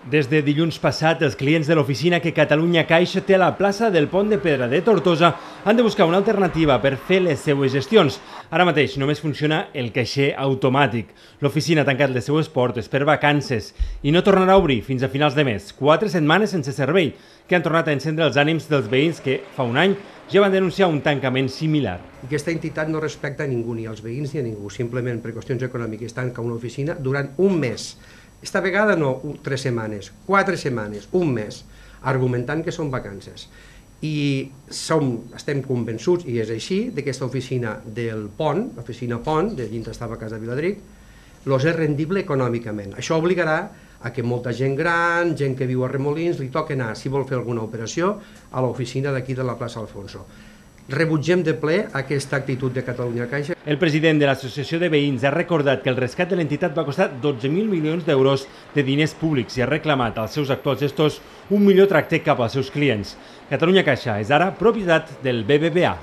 Des de dilluns passat, els clients de l'oficina que Catalunya Caixa té a la plaça del Pont de Pedra de Tortosa han de buscar una alternativa per fer les seues gestions. Ara mateix només funciona el caixer automàtic. L'oficina ha tancat les seues portes per vacances i no tornarà a obrir fins a finals de mes. 4 setmanes sense servei, que han tornat a encendre els ànims dels veïns que, fa un any, ja van denunciar un tancament similar. Aquesta entitat no respecta a ningú, ni als veïns ni a ningú, simplement per qüestions econòmiques tanca una oficina durant un mes. Esta vegada no 3 setmanes, 4 setmanes, un mes, argumentant que són vacances. I estem convençuts, i és així, que aquesta oficina del Pont, l'oficina Pont, de dins estava a Casa Viladric, és rendible econòmicament. Això obligarà a que molta gent gran, gent que viu a Remolins, li toqui anar, si vol fer alguna operació, a l'oficina d'aquí de la plaça Alfonso. Rebutgem de ple aquesta actitud de Catalunya Caixa. El president de l'Associació de Veïns ha recordat que el rescat de l'entitat va costar 12.000 milions d'euros de diners públics i ha reclamat als seus actuals gestors un millor tracte cap als seus clients. Catalunya Caixa és ara propietat del BBVA.